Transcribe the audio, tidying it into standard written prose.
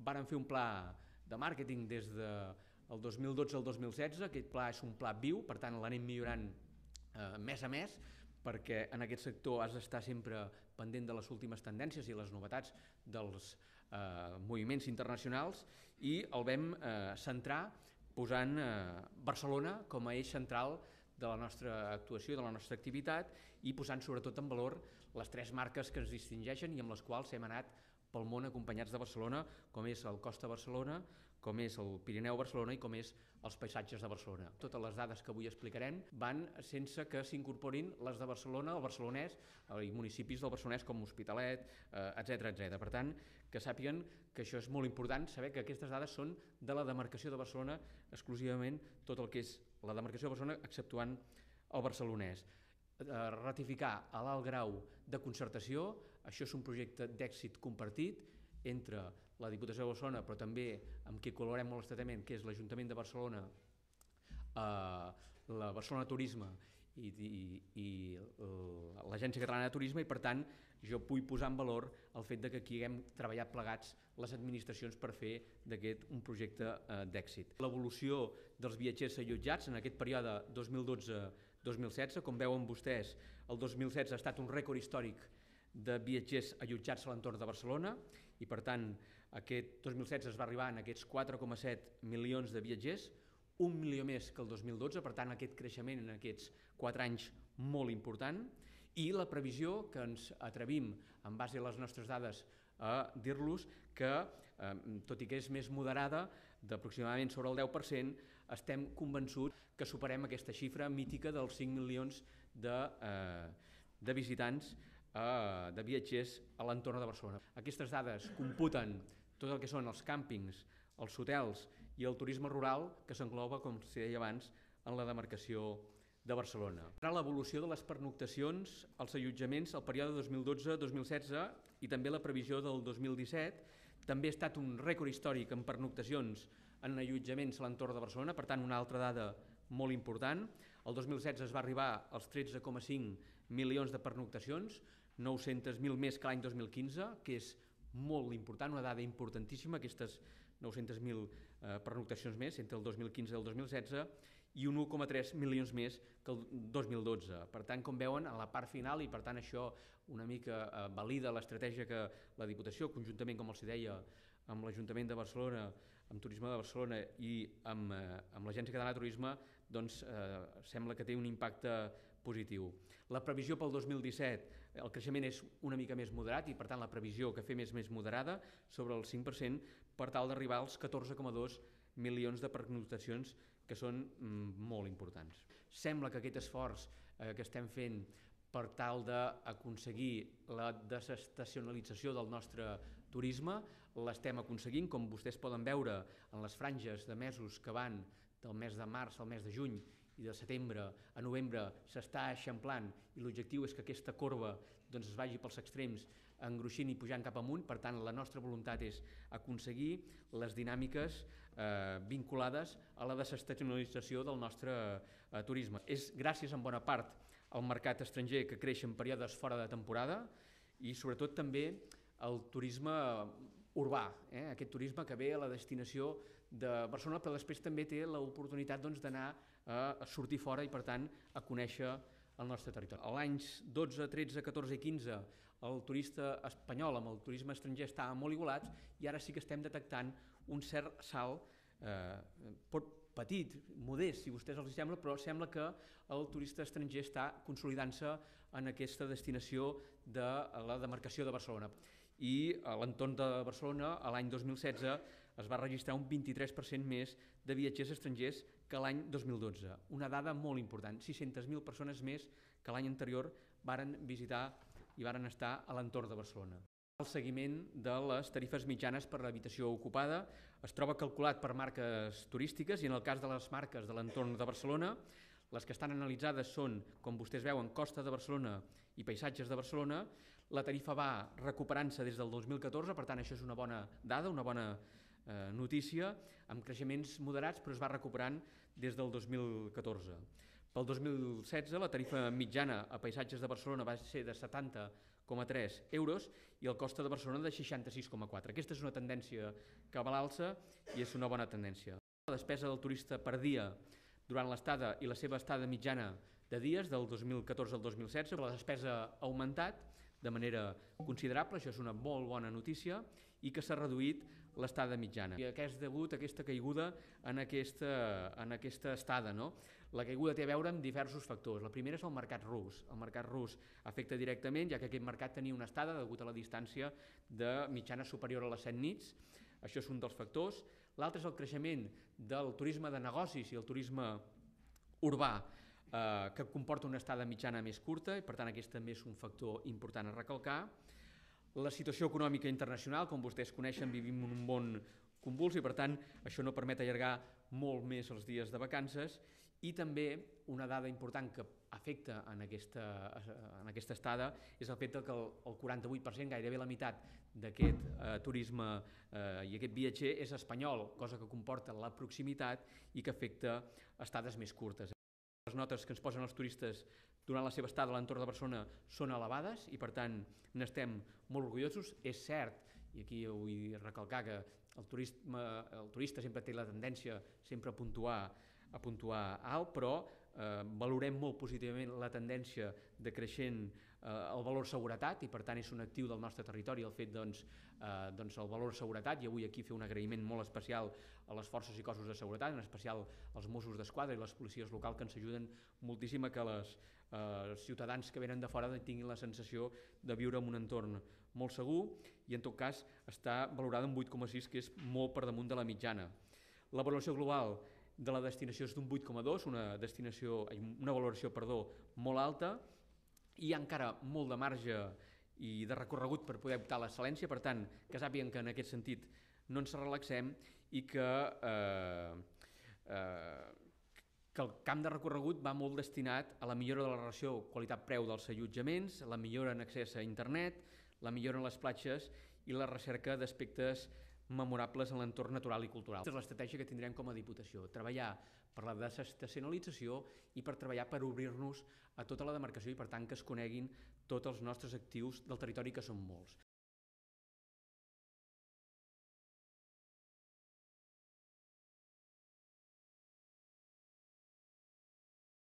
varen fer un pla de màrqueting des del 2012 al 2016, aquest pla és un pla viu, per tant l'anem millorant mes a mes, perquè en aquest sector has d'estar sempre pendent de les últimes tendències i les novetats dels moviments internacionals, i el vam centrar posant Barcelona com a eix central de la nostra actuació, de la nostra activitat, i posant sobretot en valor les tres marques que ens distingeixen i amb les quals hem anat pel món acompanyats de Barcelona, com és el Costa Barcelona, com és el Pirineu Barcelona i com és els paisatges de Barcelona. Totes les dades que avui explicarem van sense que s'incorporin les de Barcelona, el barcelonès i municipis del Barcelonès com Hospitalet, etc. Per tant, que sàpiguen que això és molt important, saber que aquestes dades són de la demarcació de Barcelona exclusivament, tot el que és la demarcació de Barcelona exceptuant el barcelonès. Ratificar a l'alt grau de concertació, això és un projecte d'èxit compartit entre la Diputació de Barcelona, però també amb qui col·laborem molt estretament, que és l'Ajuntament de Barcelona, la Barcelona Turisme i l'Agència Catalana de Turisme, i per tant jo vull posar en valor el fet que aquí haguem treballat plegats les administracions per fer d'aquest un projecte d'èxit. L'evolució dels viatgers allotjats en aquest període 2012-2016, com veuen vostès, el 2016 ha estat un rècord històric de viatgers allotjats a l'entorn de Barcelona, i per tant aquest 2016 es va arribar en aquests 4,7 milions de viatgers, 1 milió més que el 2012, per tant aquest creixement en aquests 4 anys molt important, i la previsió que ens atrevim, en base a les nostres dades, a dir-los que, tot i que és més moderada, d'aproximadament sobre el 10%, estem convençuts que superem aquesta xifra mítica dels 5 milions de visitants, de viatgers a l'entorn de Barcelona. Aquestes dades computen tot el que són els càmpings, els hotels i el turisme rural, que s'engloba, com s'hi deia abans, en la demarcació de Barcelona. L'evolució de les pernoctacions, els allotjaments, el període 2012-2016 i també la previsió del 2017, també ha estat un rècord històric en pernoctacions en allotjaments a l'entorn de Barcelona, per tant una altra dada molt important. El 2016 es va arribar als 13,5 milions de pernoctacions, 900.000 més que l'any 2015, que és molt important, una dada importantíssima, aquestes 900.000 pernoctacions més entre el 2015 i el 2016, i 1,3 milions més que el 2012. Per tant, com veuen, a la part final, i per tant això una mica valida l'estratègia que la Diputació, conjuntament, com els deia, amb l'Ajuntament de Barcelona, amb Turisme de Barcelona i amb l'Agència Catalana de Turisme, doncs sembla que té un impacte positiu. La previsió pel 2017, el creixement és una mica més moderat i per tant la previsió que fem és més moderada, sobre el 5%, per tal d'arribar als 14,2 milions de pernoctacions, que són molt importants. Sembla que aquest esforç que estem fent per tal d'aconseguir la desestacionalització del nostre turisme, l'estem aconseguint, com vostès poden veure en les franges de mesos que van del mes de març al mes de juny i de setembre a novembre s'està eixamplant, i l'objectiu és que aquesta corba es vagi pels extrems engruixint i pujant cap amunt. Per tant, la nostra voluntat és aconseguir les dinàmiques vinculades a la desestacionalització del nostre turisme. És gràcies en bona part al mercat estranger que creix en períodes fora de temporada i sobretot també el turisme urbà, aquest turisme que ve a la destinació de Barcelona, però després també té l'oportunitat d'anar a sortir fora i, per tant, a conèixer el nostre territori. A l'anys 12, 13, 14 i 15 el turista espanyol amb el turisme estranger estava molt igualats i ara sí que estem detectant un cert salt, petit, modest, si a vostès els sembla, però sembla que el turista estranger està consolidant-se en aquesta destinació de la demarcació de Barcelona. I a l'entorn de Barcelona, l'any 2016, es va registrar un 23% més de viatgers estrangers que l'any 2012. Una dada molt important, 600.000 persones més que l'any anterior varen visitar i varen estar a l'entorn de Barcelona. El seguiment de les tarifes mitjanes per l'habitació ocupada es troba calculat per marques turístiques i en el cas de les marques de l'entorn de Barcelona, les que estan analitzades són, com vostès veuen, Costa de Barcelona i Paisatges de Barcelona. La tarifa va recuperant-se des del 2014, per tant això és una bona dada, una bona notícia, amb creixements moderats, però es va recuperant des del 2014. Pel 2016 la tarifa mitjana a Paisatges de Barcelona va ser de 70,4 4,3 euros i el Costa de Barcelona de 66,4. Aquesta és una tendència que va a l'alça i és una bona tendència. La despesa del turista per dia durant l'estada i la seva estada mitjana de dies del 2014 al 2016, la despesa ha augmentat de manera considerable, això és una molt bona notícia, i que s'ha reduït l'estada mitjana. I a què és degut aquesta caiguda en aquesta estada, no? La caiguda té a veure amb diversos factors. La primera és el mercat rus. El mercat rus afecta directament, ja que aquest mercat tenia una estada degut a la distància de mitjana superior a les 7 nits. Això és un dels factors. L'altre és el creixement del turisme de negocis i el turisme urbà, que comporta una estada mitjana més curta, i per tant aquest també és un factor important a recalcar. La situació econòmica internacional, com vostès coneixen, vivim en un món convuls i per tant això no permet allargar molt més els dies de vacances, i també una dada important que afecta en aquesta estada és el fet que el 48%, gairebé la meitat d'aquest turisme i aquest viatger és espanyol, cosa que comporta la proximitat i que afecta estades més curtes. Les notes que ens posen els turistes durant la seva estada a l'entorn de Barcelona són elevades i per tant n'estem molt orgullosos. És cert, i aquí vull recalcar que el turista sempre té la tendència sempre a puntuar alt, però valorem molt positivament la tendència de creixent el valor seguretat i per tant és un actiu del nostre territori el fet el valor seguretat, i avui aquí fer un agraïment molt especial a les forces i cossos de seguretat, en especial als Mossos d'Esquadra i les policies locals que ens ajuden moltíssim a que els ciutadans que venen de fora tinguin la sensació de viure en un entorn molt segur, i en tot cas està valorada en 8,6, que és molt per damunt de la mitjana. La valoració global de la destinació és d'un 8,2, una valoració molt alta, i hi ha encara molt de marge i de recorregut per poder optar a l'excel·lència, per tant, que sàpiguen que en aquest sentit no ens relaxem i que el camp de recorregut va molt destinat a la millora de la relació qualitat-preu dels allotjaments, la millora en accés a internet, la millora en les platges i la recerca d'aspectes memorables en l'entorn natural i cultural. Aquesta és l'estratègia que tindrem com a Diputació, treballar per la desestacionalització i per treballar per obrir-nos a tota la demarcació i per tant que es coneguin tots els nostres actius del territori, que són molts.